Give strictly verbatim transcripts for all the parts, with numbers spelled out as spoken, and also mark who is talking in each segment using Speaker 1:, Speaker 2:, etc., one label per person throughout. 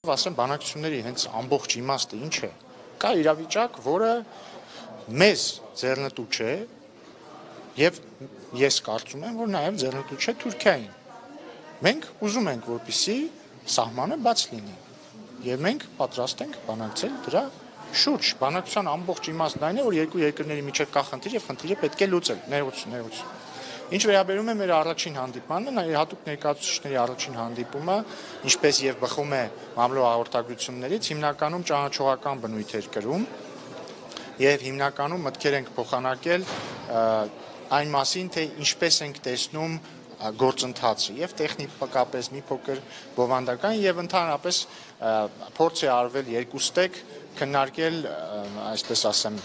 Speaker 1: Ասեմ, բանակցությունների հենց ամբողջ իմաստը ինչ է, կա իրավիճակ, որը մեզ ձեռնտու չէ, եւ ես կարծում եմ, որ նաեւ ձեռնտու չէ Թուրքիային։ Մենք ուզում ենք, որպեսզի սահմանը բաց լինի, եւ մենք պատրաստ ենք բանակցել դրա շուրջ։ Բանակցության ամբողջ իմաստն այն է, որ երկու երկրների միջեւ կա խնդիր եւ խնդիրը պետք է լուծել, ներողություն, ներողություն։ Ինչ վերաբերում է մեր առաջին հանդիպմանը, հատուկ ներկայացուցիչների առաջին հանդիպումը, ինչպես եւ բխում է մամլո հաղորդագրություններից, հիմնականում ճանաչողական բնույթ էր կրում եւ հիմնականում մտքեր ենք փոխանակել այն մասին, թե ինչպես ենք տեսնում գործընթացը եւ տեխնիկապես մի փոքր բովանդական եւ ընդհանրապես փորձ է արվել երկուստեք քննարկել, այսպես ասեմ,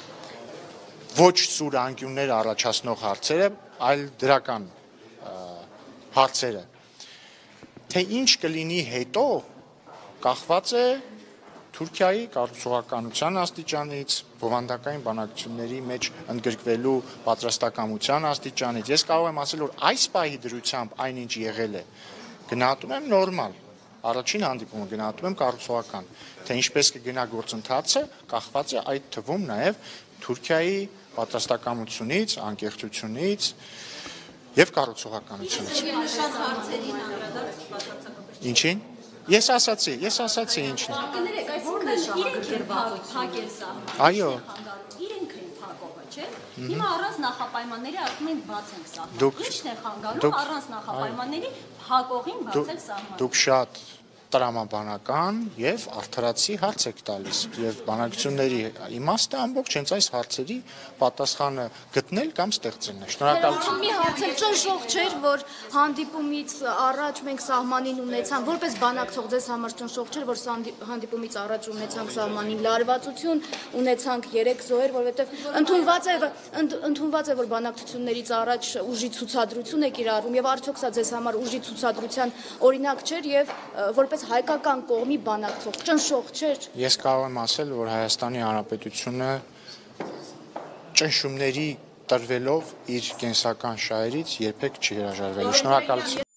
Speaker 1: ոչ սուր անկյուններ առաջացնող հարցերը, այլ դրական հարցերը։ Թե ինչ կլինի հետո, կախված է Թուրքիայի կառուցողականության աստիճանից, բովանդակային բանակցությունների մեջ ընդգրկվելու պատրաստակամության աստիճանից։ Ես կարող եմ ասել, որ այս պահի դրությամբ այնինչ եղել է, գնահատում եմ նորմալ, առաջին հանդիպումը գնահատում եմ կառուցողական, թե ինչպես կգնա գործընթացը, կախված է այդ թվում նաև Թուրքիայի պատրաստակամությունից, անկեղծությունից եւ կառուցողականությունից։ Ինչին։ Ես ասացի, ես ասացի ինչն է։
Speaker 2: Իրենք են փակել սահմանը։
Speaker 1: Այո։
Speaker 2: Իրենք են փակողը, չէ՞։ Հիմա առանց նախապայմանների ասում են բաց ենք սահմանը։ Ի՞նչն է խանգարում առանց նախապայմանների փակողին բացել սահմանը։
Speaker 1: Դուք շատ տրամաբանական եւ արդարացի հարց եք տալիս եւ բանակցությունների իմաստը ամբողջ հենց այս հարցերի պատասխանը գտնել կամ ստեղծելն է։ Շնորհակալություն։
Speaker 3: Մի հարց էլ ճնշող չէր, որ հանդիպումից առաջ մենք սահմանին ունեցանք, որպես բանակցող ձեզ համար ճնշող չէր, որ հանդիպումից առաջ ունեցանք սահմանին լարվածություն, ունեցանք երեք զոհեր, որովհետեւ ընդունված է ընդունված է, որ բանակցություններից առաջ ուժի ցուցադրություն է կիրառվում եւ արդյոք սա ձեզ համար ուժի ցուցադրության օրինակ չէր եւ որպես հայկական կողմի բանակցող ճնշող չէր։
Speaker 1: Ես կարող եմ ասել, որ Հայաստանի Հանրապետությունը ճնշումների տրվելով իր կենսական շահերից երբեք չի հրաժարվել։ Շնորհակալություն։